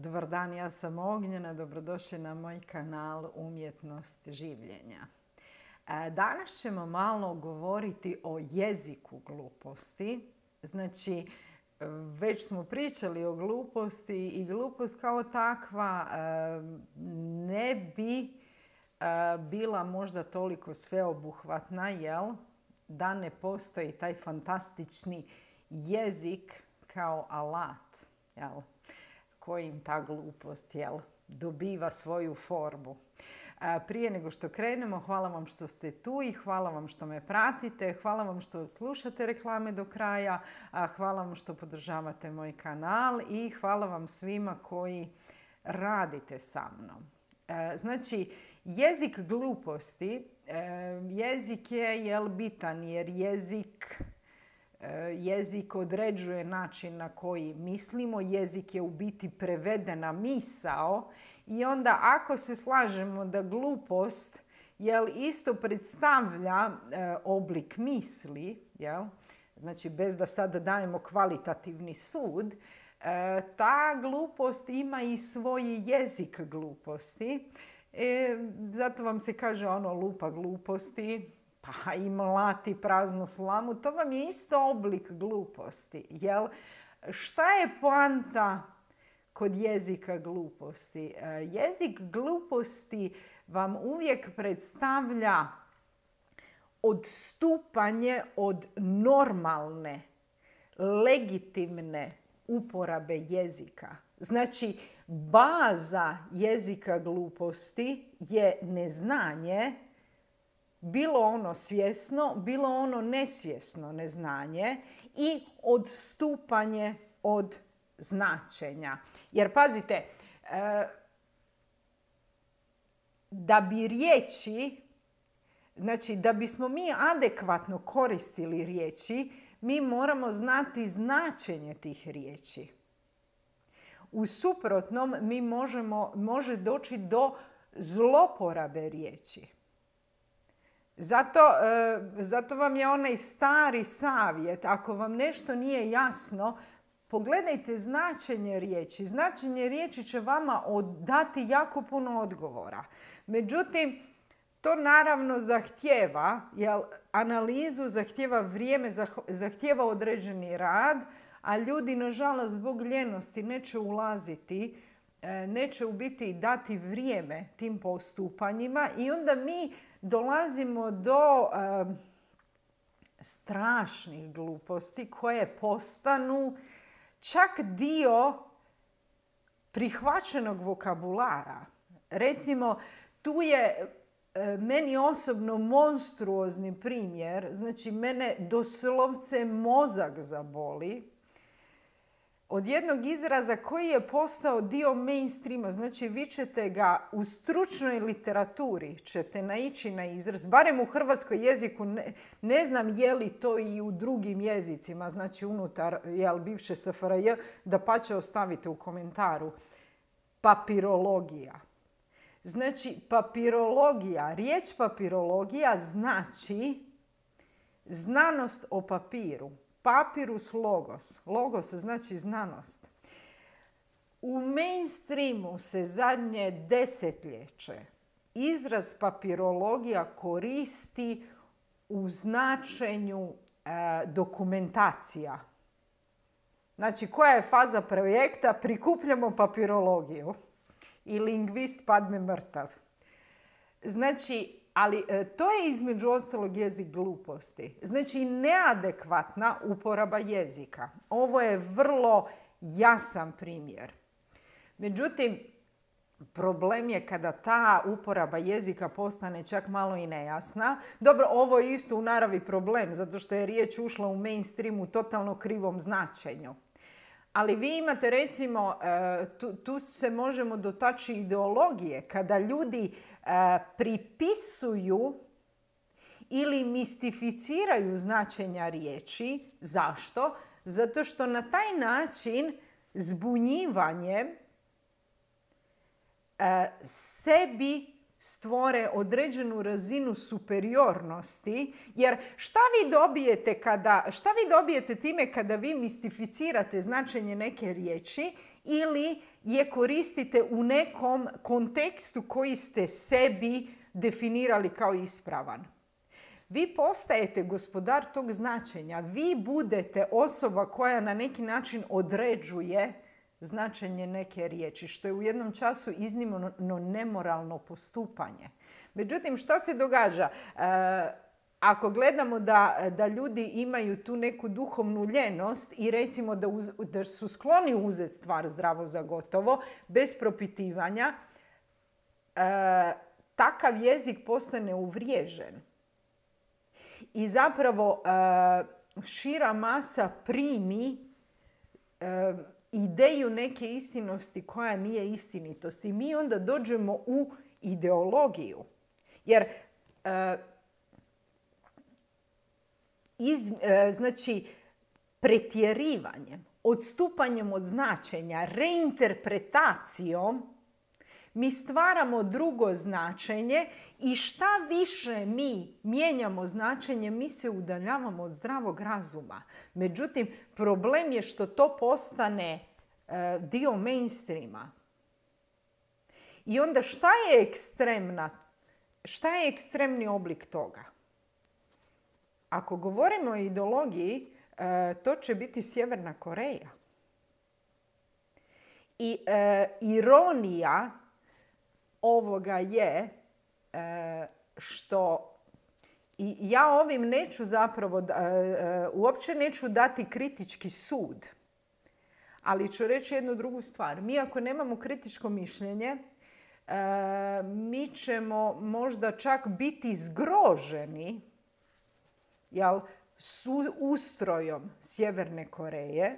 Dobar dan, ja sam Ognjena, dobrodošli na moj kanal Umjetnost življenja. Danas ćemo malo govoriti o jeziku gluposti. Znači, već smo pričali o gluposti i glupost kao takva ne bi bila možda toliko sveobuhvatna, jel? Da ne postoji taj fantastični jezik kao alat, jel? Kojim ta glupost, jel, dobiva svoju formu. Prije nego što krenemo, hvala vam što ste tu i hvala vam što me pratite, hvala vam što slušate reklame do kraja, hvala vam što podržavate moj kanal i hvala vam svima koji radite sa mnom. Znači, jezik gluposti, jezik je bitan jer jezik određuje način na koji mislimo, jezik je u biti prevedena misao i onda ako se slažemo da glupost isto predstavlja oblik misli, znači bez da sada dajemo kvalitativni sud, ta glupost ima i svoj jezik gluposti. Zato vam se kaže lupa gluposti, pa i mlati praznu slamu, to vam je isto oblik gluposti. Jel? Šta je poanta kod jezika gluposti? Jezik gluposti vam uvijek predstavlja odstupanje od normalne, legitimne uporabe jezika. Znači, baza jezika gluposti je neznanje, bilo ono svjesno, bilo ono nesvjesno neznanje i odstupanje od značenja. Jer pazite, da bi riječi, znači da bismo mi adekvatno koristili riječi, mi moramo znati značenje tih riječi. U suprotnom može doći do zloporabe riječi. Zato vam je onaj stari savjet, ako vam nešto nije jasno, pogledajte značenje riječi. Značenje riječi će vama dati jako puno odgovora. Međutim, to naravno zahtijeva analizu, zahtijeva vrijeme, zahtijeva određeni rad, a ljudi, nažalost, zbog ljenosti neće ulaziti, neće u biti dati vrijeme tim postupanjima i onda mi dolazimo do strašnih gluposti koje postanu čak dio prihvaćenog vokabulara. Recimo, tu je meni osobno monstruozni primjer, znači mene doslovce mozak zaboli od jednog izraza koji je postao dio mainstreama. Znači, vi ćete ga u stručnoj literaturi ćete naići na izraz, barem u hrvatskom jeziku, ne znam je li to i u drugim jezicima, znači unutar bivše SFRJ, dapače ostavite u komentaru. Papirologija. Znači, papirologija, riječ papirologija znači znanost o papiru. Papirus logos. Logos znači znanost. U mainstreamu se zadnje desetljeće izraz papirologija koristi u značenju dokumentacija. Znači, koja je faza projekta? Prikupljamo papirologiju. I lingvist padne mrtav. Znači, ali to je između ostalog jezik gluposti. Znači, neadekvatna uporaba jezika. Ovo je vrlo jasan primjer. Međutim, problem je kada ta uporaba jezika postane čak malo i nejasna. Dobro, ovo je isto u naravi problem, zato što je riječ ušla u mainstream u totalno krivom značenju. Ali vi imate, recimo, tu se možemo dotaći ideologije, kada ljudi pripisuju ili mistificiraju značenja riječi. Zašto? Zato što na taj način zbunjivanjem sebi stvore određenu razinu superiornosti, jer šta vi dobijete time kada vi mistificirate značenje neke riječi ili je koristite u nekom kontekstu koji ste sebi definirali kao ispravan? Vi postajete gospodar tog značenja. Vi budete osoba koja na neki način određuje značenje neke riječi, što je u jednom času iznimno nemoralno postupanje. Međutim, šta se događa? Ako gledamo da ljudi imaju tu neku duhovnu ljenost i recimo da su skloni uzeti stvar zdravo za gotovo, bez propitivanja, takav jezik postane uvriježen. I zapravo šira masa primi ideju neke istinosti koja nije istinitost. I mi onda dođemo u ideologiju. Jer znači pretjerivanjem, odstupanjem od značenja, reinterpretacijom mi stvaramo drugo značenje i šta više mi mijenjamo značenje, mi se udaljavamo od zdravog razuma. Međutim, problem je što to postane dio mainstreama. I onda šta je ekstremni oblik toga? Ako govorimo o ideologiji, to će biti Sjeverna Koreja. I ironija ovoga je što i ja ovim neću zapravo, uopće neću dati kritički sud, ali ću reći jednu drugu stvar. Mi ako nemamo kritičko mišljenje, mi ćemo možda čak biti zgroženi ustrojom Sjeverne Koreje.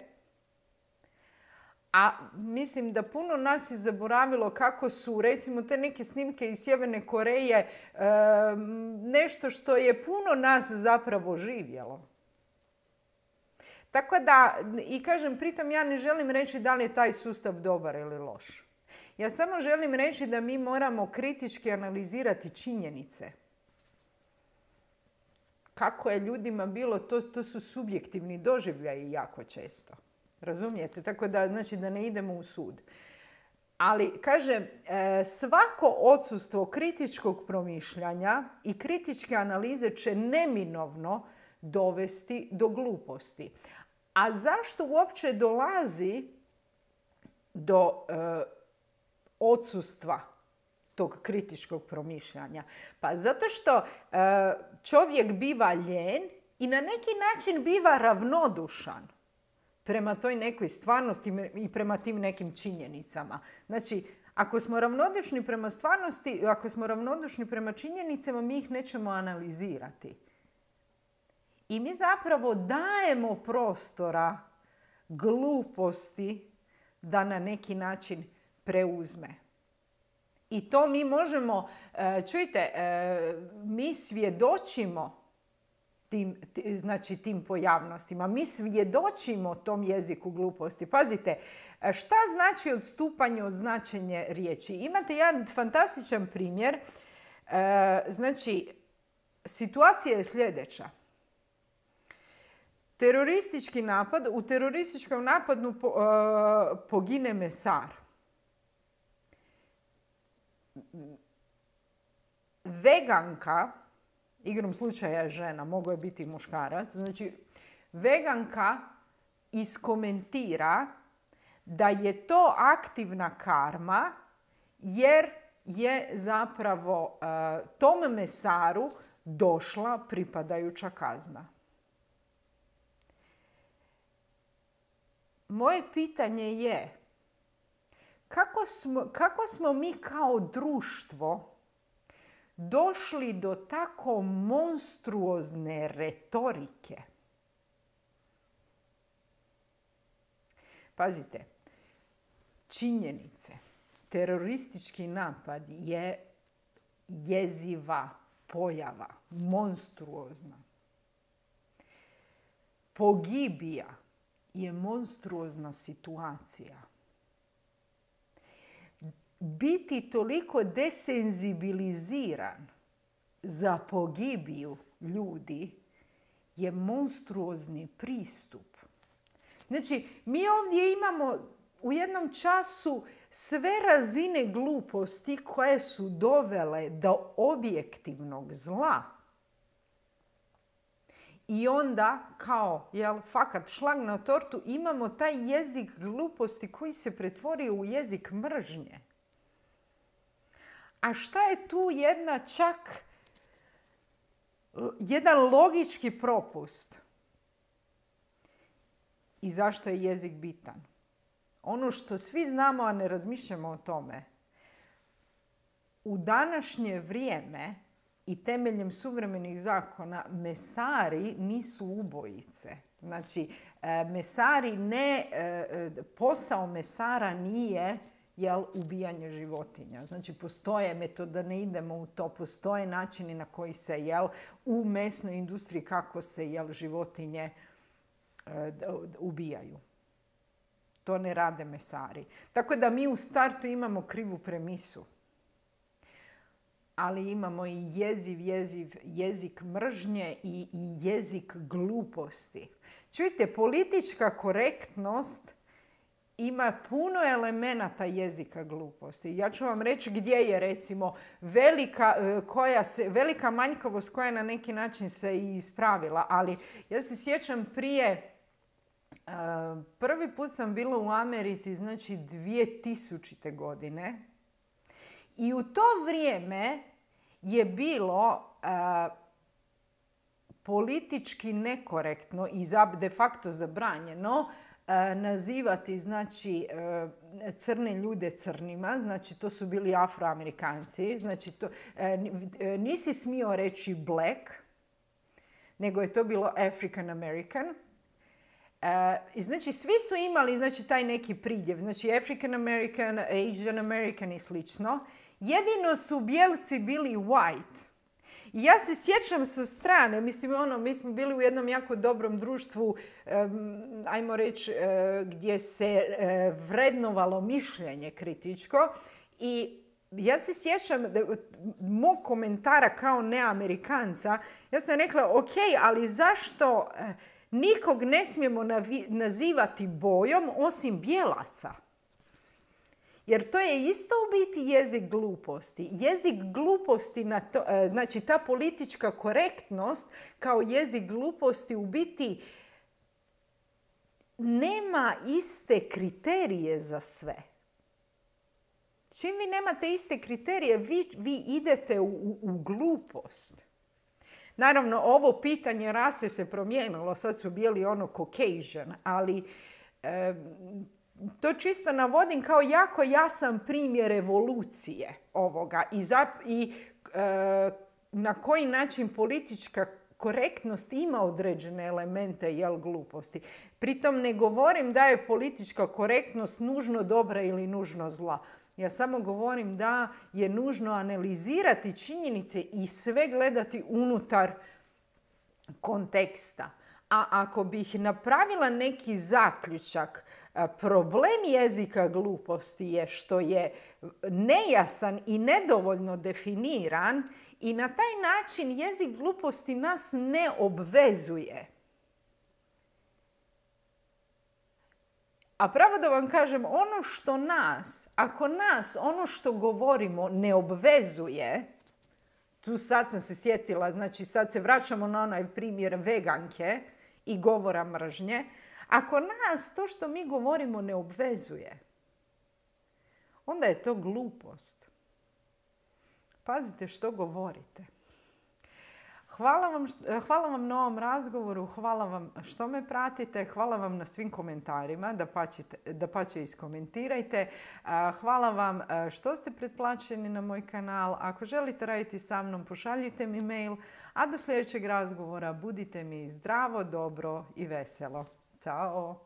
A mislim da puno nas je zaboravilo kako su, recimo, te neke snimke iz Sjeverne Koreje nešto što je puno nas zapravo živjelo. Tako da, i kažem, pritom ja ne želim reći da li je taj sustav dobar ili loš. Ja samo želim reći da mi moramo kritički analizirati činjenice. Kako je ljudima bilo, to su subjektivni doživljaji jako često. Razumijete? Tako da, znači da ne idemo u sud. Ali, kažem, svako odsustvo kritičkog promišljanja i kritičke analize će neminovno dovesti do gluposti. A zašto uopće dolazi do odsustva tog kritičkog promišljanja? Pa zato što čovjek biva lijen i na neki način biva ravnodušan prema toj nekoj stvarnosti i prema tim nekim činjenicama. Znači, ako smo ravnodušni prema stvarnosti, ako smo ravnodušni prema činjenicama, mi ih nećemo analizirati. I mi zapravo dajemo prostora gluposti da na neki način preuzme. I to mi možemo, čujte, mi svjedočimo tim pojavnostima. Mi svjedočimo tom jeziku gluposti. Pazite, šta znači odstupanje od značenja riječi? Imate jedan fantastičan primjer. Znači, situacija je sljedeća. Teroristički napad, u terorističkom napadu pogine mesar. Veganka, igrom slučaja je žena, mogao je biti muškarac, znači veganka iskomentira da je to aktivna karma jer je zapravo tom mesaru došla pripadajuća kazna. Moje pitanje je kako smo mi kao društvo došli do tako monstruozne retorike? Pazite, činjenice. Teroristički napad je jeziva pojava, monstruozna. Pogibija je monstruozna situacija. biti toliko desenzibiliziran za pogibiju ljudi je monstruozni pristup. Znači, mi ovdje imamo u jednom času sve razine gluposti koje su dovele do objektivnog zla. I onda, kao, fakat šlag na tortu, imamo taj jezik gluposti koji se pretvorio u jezik mržnje. A šta je tu jedan logički propust? I zašto je jezik bitan? Ono što svi znamo, a ne razmišljamo o tome. U današnje vrijeme i temeljem suvremenih zakona mesari nisu ubojice. Znači, posao mesara nije ubijanje životinja. Znači, postoje metode, da ne idemo u to, postoje načini na koji se u mesnoj industriji kako se životinje ubijaju. To ne rade mesari. Tako da mi u startu imamo krivu premisu. Ali imamo i jezik mržnje i jezik gluposti. Čujte, politička korektnost ima puno elemenata jezika gluposti. Ja ću vam reći gdje je, recimo, velika manjkavost koja na neki način se i ispravila. Ali ja se sjećam prvi put sam bila u Americi, znači 2000. godine. I u to vrijeme je bilo politički nekorektno i de facto zabranjeno nazivati, znači, crne ljude crnima. Znači, to su bili Afroamerikanci. Znači, nisi smio reći black, nego je to bilo African American. Znači, svi su imali taj neki pridjev. Znači, African American, Asian American i slično. Jedino su bijelci bili white. I ja se sjećam sa strane, mi smo bili u jednom jako dobrom društvu, ajmo reći, gdje se vrednovalo mišljenje kritičko. I ja se sjećam mog komentara kao neamerikanca. Ja sam rekla, ok, ali zašto nikog ne smijemo nazivati bojom osim bijelaca? Jer to je isto u biti jezik gluposti. Jezik gluposti, znači ta politička korektnost kao jezik gluposti u biti nema iste kriterije za sve. Čim vi nemate iste kriterije, vi idete u glupost. Naravno, ovo pitanje rase se promijenilo. Sad su bili Caucasian, ali to čisto navodim kao jako jasan primjer evolucije ovoga i na koji način politička korektnost ima određene elemente gluposti. Pritom ne govorim da je politička korektnost nužno dobra ili nužno zla. Ja samo govorim da je nužno analizirati činjenice i sve gledati unutar konteksta. A ako bih napravila neki zaključak, problem jezika gluposti je što je nejasan i nedovoljno definiran i na taj način jezik gluposti nas ne obvezuje. A pravo da vam kažem, ako nas ono što govorimo ne obvezuje, tu sad sam se sjetila, znači sad se vraćamo na onaj primjer veganke i govora mržnje. Ako nas to što mi govorimo ne obvezuje, onda je to glupost. Pazite što govorite. Hvala vam na ovom razgovoru, hvala vam što me pratite, hvala vam na svim komentarima, dapače iskomentirajte. Hvala vam što ste pretplaćeni na moj kanal. Ako želite raditi sa mnom, pošaljite mi mail, a do sljedećeg razgovora budite mi zdravo, dobro i veselo. Ćao!